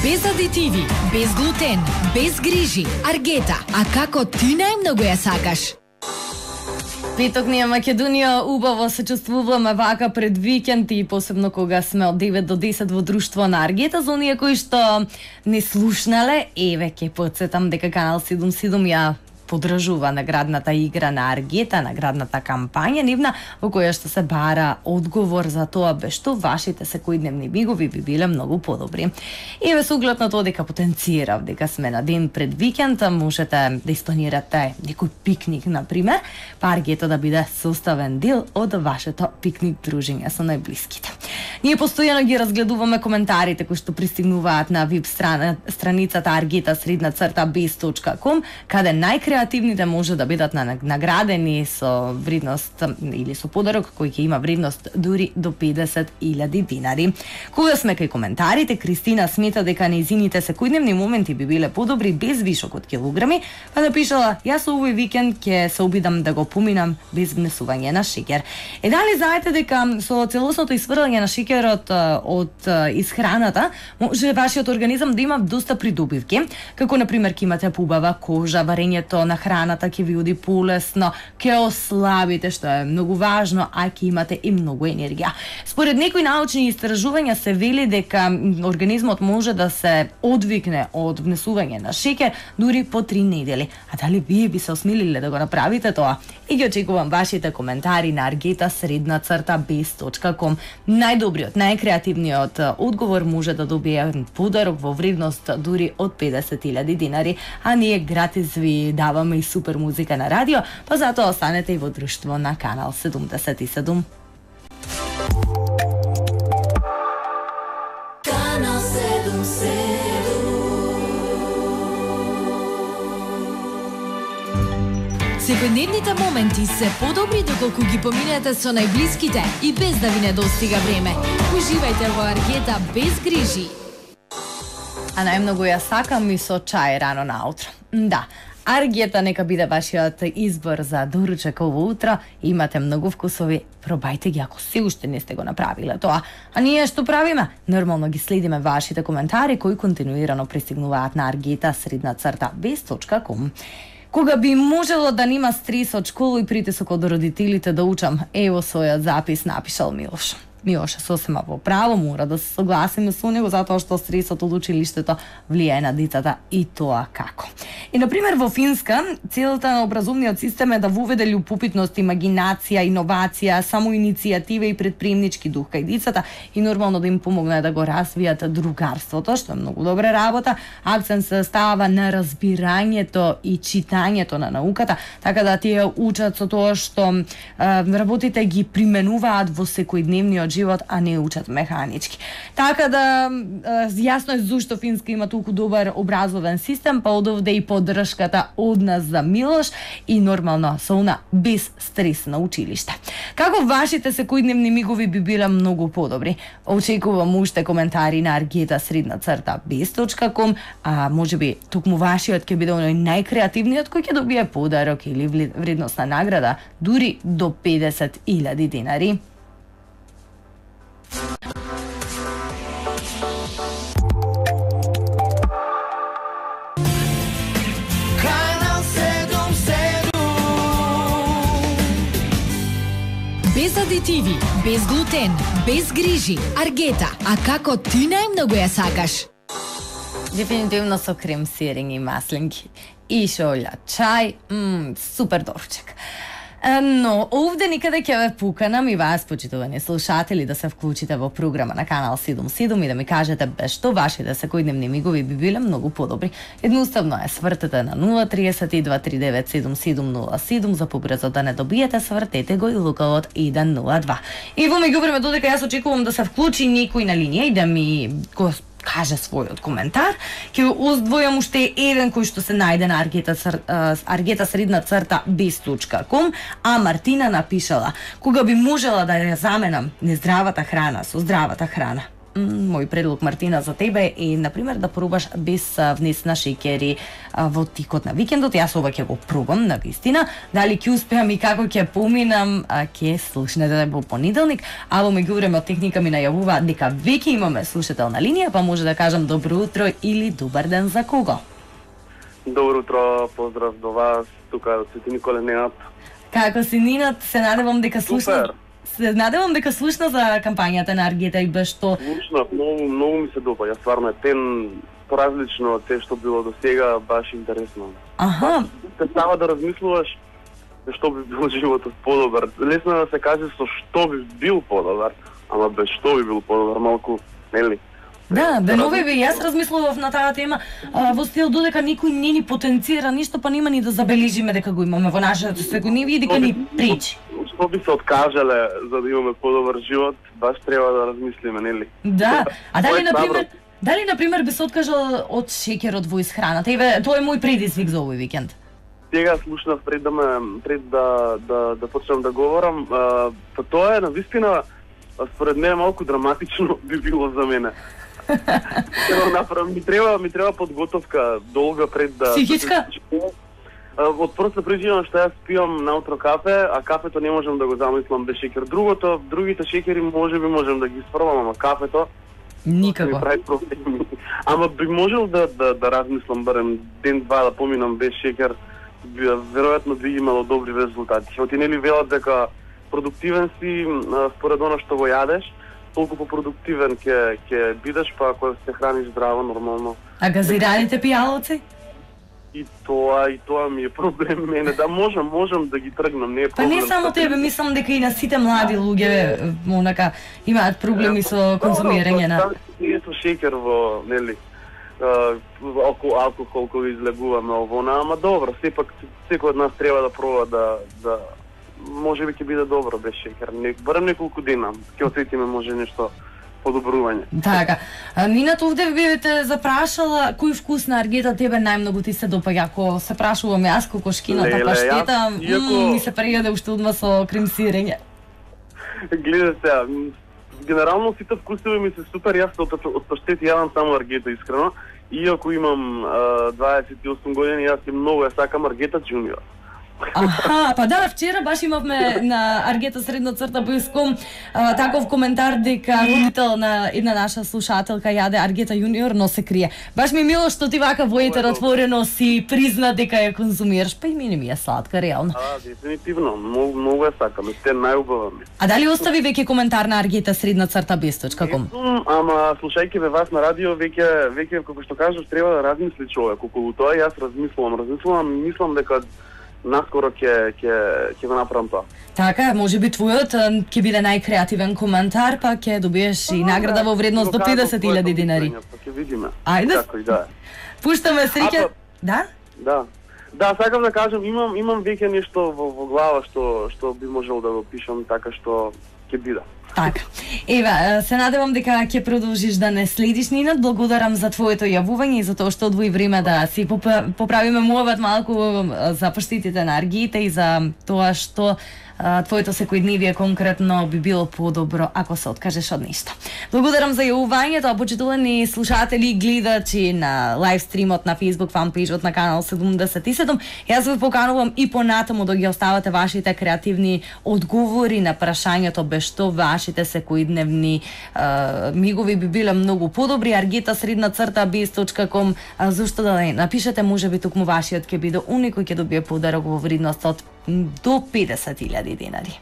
Без адитиви, без глутен, без грижи. Аргета, а како ти најмногу ја сакаш? Петок ние Македонија убаво се чувствуваме вака пред викенд и посебно кога сме од 9 до 10 во друштво на Аргета. За оние кои што не слушнале, еве ќе потсетам дека Канал 77 ја поддржува наградната игра на Аргета, наградната кампања нивна, во која што се бара одговор за тоа бе што вашите секојдневни мигови би биле многу подобри. Еве со оглед на тоа дека потенцирав дека сме на ден пред викенд, можете да испланирате некој пикник на пример, па Аргета да биде составен дел од вашето пикник дружење со најблиските. Ние постојано ги разгледуваме коментарите кои што пристигнуваат на веб страницата argeta_bez.com, каде најкреативните може да бидат наградени со вредност или со подарок кој ќе има вредност дури до 50.000 динари. Кога сме кај коментарите, Кристина смета дека нејзините секојдневни моменти би биле подобри без вишок од килограми, па напишала: јас овој викенд ќе се обидам да го поминам без внесување на шеќер. Дали знаете дека со целосното исфрлање на шеќерот од исхраната може вашиот организам да има доста придобивки, како на пример ќе имате поубава кожа, варењето на храната ќе ви оди полесно, ќе ослабите, што е многу важно, а ќе имате и многу енергија. Според некои научни истражувања се вели дека организмот може да се одвикне од внесување на шеќер дури по 3 недели. А дали вие би се осмелиле да го направите тоа? И ги очекувам вашите коментари на argeta_bez.com. Најдобриот, најкреативниот одговор може да добие подарок во вредност дури од 50.000 динари, а ние гратис ви даваме и супер музика на радио, па затоа останете и во друштво на Канал 77. Канал 77. Секојдневните моменти се подобри доколку ги поминете со најблиските и без да ви недостига време. Уживајте во Аргета без грижи. А најмногу ја сакам и со чај рано наутро. Да, Аргета нека биде вашиот избор за доручек ово утро. Имате многу вкусови, пробајте ги ако се уште не сте го направиле тоа. А ние што правиме? Нормално ги следиме вашите коментари кои континуирано пристигнуваат на argeta_bez.com. Кога би можело да нема стрес од школа и притисок од родителите да учам, ево својот запис напишал Милош. Милош е сосема во право, мора да се согласиме со него затоа што стресот од училиштето влијае на децата и тоа како. И на пример во Финска целта на образовниот систем е да воведе љубопитност, имагинација, иновација, самоиницијатива и предприемнички дух кај децата и нормално да им помогне да го развијат другарството, што е многу добра работа. Акцент се става на разбирањето и читањето на науката, така да тие учат со тоа што работите ги применуваат во секојдневниот живот, а не учат механички. Така да јасно е зошто Финска има толку добар образовен систем, па одовде и поддршката од нас за Милош и нормално со она без стрес на училиште. Како вашите секојдневни мигови би биле многу подобри? Очекувам уште коментари на argeta_bez.com, а можеби токму вашиот ќе биде оној најкреативниот кој ќе добие подарок или вредностна награда дури до 50.000 динари. Без адитиви, без глутен, без грижи. Аргета, а како ти најмногу ја сакаш? Дефинитивно со крем сирење и маслинки. И шолја чај, супер дорчек. Но овде никаде ќе ве пуканам и вас, почитувани слушатели, да се вклучите во програма на Канал 77 и да ми кажете бе што вашите секојдневни мигови би биле многу подобри. Едноставно е, свртете на 032397707 за побрзо да не добиете, свртете го и лукавот 102. И во меѓувреме додека јас очекувам да се вклучи некој на линија и да ми го каже својот коментар, ќе оздвојам уште еден кој што се најде на argeta_bez.com, а Мартина напишала: кога би можела да ја заменам нездравата храна со здравата храна, мој предлог, Мартина, за тебе е, например, да пробаш без внесена шеќери во тикот на викендот. Јас ова ќе го пробам, на вистина. Дали ќе успеам и како ќе поминам, ќе слушнете во понеделник. А во меѓувреме од техника ми најавува дека веќе имаме слушател на линија, па може да кажам добро утро или добар ден за кого? Добро утро, поздрав до вас, тука Свети Николе Ненад. Како си, Нинат? Се надевам дека слушна. Се надевам дека слушна за кампањата на Аргета и без што. Слушнав, многу ми се допаѓа, стварно е тен поразлично од те што било до сега, баш интересно. Аха. Те става да размислуваш што би бил животот подобар. Лесно е да се каже со што би бил подобар, ама без што би бил подобар, малку, нели? Да, денови би јас размислував на таа тема во стил додека никој не ни потенцира ништо, па нема ни да забележиме дека го имаме во нашето секојдневие и дека ни пречи. Што би се откажале за да имаме подобар живот, баш треба да размислиме, нели? Да, а дали например би се откажал од шеќерот во исхраната? Еве, тоа е мој предизвик за овој викенд. Сега слушнав пред да почнам да говорам, па тоа е навистина според мене малку драматично би било за мене. Ми треба подготовка долга пред да... Психичка? Од проста причина што јас пијам наутро кафе, а кафето не можам да го замислам без шеќер. Другите шеќери можем да ги испробам, ама кафето никако. Ми прави проблеми. Ама би можел да размислам барем ден-два да поминам без шеќер, веројатно би имало добри резултати. Оти нели велат дека продуктивен си според она што го јадеш, толку попродуктивен ќе бидеш, па ако се храниш здраво, нормално. А газираните пијалоци? И тоа ми е проблем мене, да можам да ги тргнам, не е проблем. Па не само тебе, мислам дека и на сите млади луѓе монака имаат проблеми со конзумирање на... Не со шеќер во, нели, алкохол кој излегуваме овона, ама добро, сепак секој од нас треба да проба да може би ќе биде добро без шеќер. Барем неколку дена, ќе осетиме може нешто подобрување. Така. Нинат, овде би те запрашала кој вкус на Аргета тебе најмногу ти се допаѓа. Ако се прашувам јас кокошкината паштета, ми се пријаде уште одма со кремсирење. Гледа сега, генерално сите вкусови ми се супер, јас од паштети јадам само Аргета искрено. Иако имам 28 години, јас многу ја сакам Аргета Junior. Аха, па да, вчера баш имавме на Аргета средна црта Бојском таков коментар дека родител на една наша слушателка јаде Аргета Јуниор, но се крие. Баш ми мило што ти вака во етер отворено си призна дека ја конзумираш, па и мене ми е сладка, реално. Дефинитивно, многу ја сакам, сте најубава ми. А дали остави веќе коментар на Аргета средна црта Бесточка.com? Ама слушајќи ве вас на радио, веќе како што кажеш, треба да размисли човек. Околу тоа јас размислувам, мислам дека наскоро ќе го направам тоа. Така, може би твојот ќе биде најкреативен коментар, па ќе добиеш и награда во вредност до 50.000 динари. Па ќе видиме. Ајде. Како и да. Пуштаме среќа. Да? Да, сакам да кажам, имам веќе нешто во глава што би можел да го пишам така што ќе биде. Така. Ева, се надевам дека ќе продолжиш да не следиш, Нинат. Благодарам за твоето јавување и за тоа што одвои време да си поправиме муават малку за паштетите на Аргета и за тоа што твоето секојдневие конкретно би било подобро ако се откажеш од нешто. Благодарам за јавувањето, а почитувани слушатели и гледачи на лайв стримот на Facebook фанпејџот на канал 77. Јас ве поканувам и понатаму да ги оставате вашите креативни одговори на прашањето без што вашите секојдневни мигови би биле многу подобри. Аргета средна црта Best.com, зашто да не напишете, можеби токму вашиот ќе биде уник кој ќе добие подарок во вредност од до 50.000 динари.